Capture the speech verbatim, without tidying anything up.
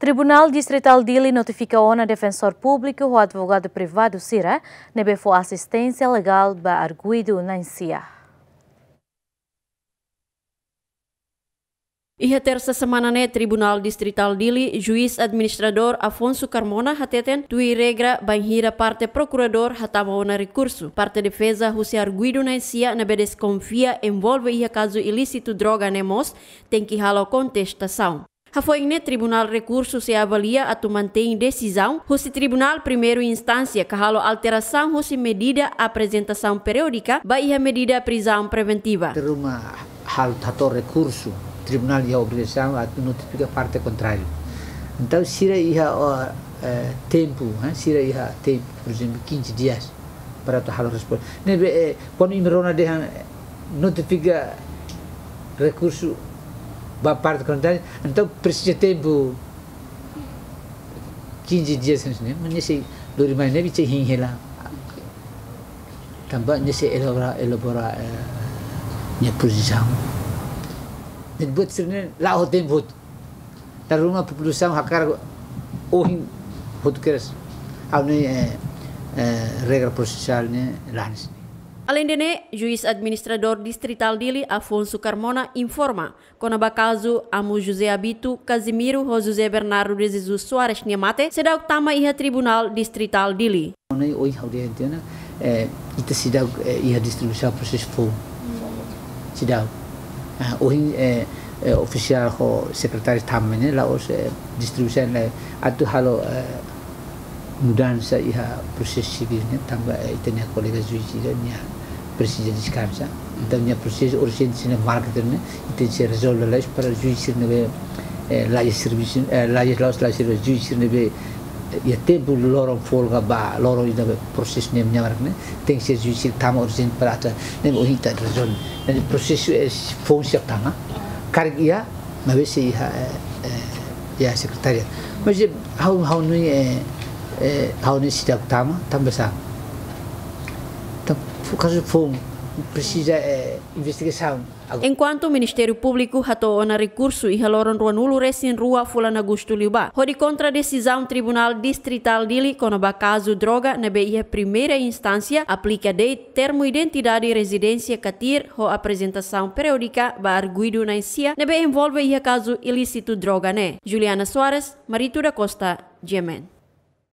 Tribunál Distritál Dili notifika ona defensór públiku ho advogadu privadu sira ne'ebé fó asisténsia legál ba arguidu na'in-sia. Iha tersa semana ne'e, Tribunál Distritál Dili, Juís Administradór Afonso Carmona hateten, tuir regra bainhira parte prokuradór hatama ona rekursu, parte defeza husi arguidu na'in-sia ne'ebé deskonfia envolve iha kazu ilísitu droga ne'e mós tenke halo kontestasaun. Hafoin ne'e, tribunál rekursu sei avalia atu mantein desizaun husi Tribunál Primeira Instánsia ka halo alterasaun husi medida aprezentasaun periódika ba iha medida prizaun preventiva. Teruma hal tato rekursu, tribunál iha obrigasaun atu notifika parte kontráriu. Entaun, sira iha, ó, eh, tempu, eh, sira iha tempu, por ezemplu, quinze dias para atu halo resposta. Ne'ebé, eh, kuandu imi rona dehan, eh, notifika rekursu ba parte kontráriu, entaun presiza tempu quinze dias, ne'e, mas nia sei lori mai ne'ebé sei hein hela. Tanba nia sei elabora, elabora, eh, nia pozisaun. Ne'ebé buat sira-ne'e la'o tempu. Dala ruma populasaun hakarak ohin hotu kedas. Ha'u-nia, eh, eh, regra prosesuál ne'e la hanesan ne'e. Aleinde ne'e, Juís Administradór Distritál Dili, Afonso Carmona, informa kona-ba kazu amu José Abito, Casimiro ho José Bernardo de Jesus Soares nia mate seidauk tama iha Tribunál Distritál Dili. Ne'e ohin ha'u dehan tiha ona, eh, ita seidauk, eh, iha distribuisaun prosesu foun. Seidauk. Ah, ohin, eh, eh, ofisiál ho sekretáriu tama ne'e la'ós, eh, distribuisaun ne'e atu halo, eh, mudansa iha prosesu sivíl ne'e, tanba, eh, ita-nia kolega juís sira-ne'e presiza deskansa. Entaun, nia prosesu urjente sira-ne'e marka tiha ona, ita sei rezolve lalais para juís sira-ne'ebé, eh, la'ós servisu, eh, la'ós, la'ós, la'ós servisu, juís sira-ne'ebé, eh, iha tempu loron folga ba loron ida prosesu ne'e nia marka ne'e, tenke ser juís sira tama urjente para atu, ne'e ohin ita rezolve. Ne'e prosesu, eh, foun seidauk tama, karik iha, maibé sei iha, eh, eh, iha sekretariadu. Mas, eh, ha'u, ha'u-nia, eh, eh, ha'u-nia seidauk tama, tanba sá? Tan, fo-, kazu foun presiza, eh, investigasaun. Ago- Enkuantu Ministériu Públiku hato'o ona rekursu iha loron ruanulu-resin-rua fulan Agostu liubá, hodi kontra desizaun Tribunál Distritál Dili kona-ba kazu droga ne'ebé iha primeira instánsia aplika de'it termu identidade rezidénsia katir ho aprezentasaun periódika ba arguidu na'in-sia ne'ebé envolve iha kazu ilísitu droga ne'e. Juliana Soares, Marito da Costa, G M N.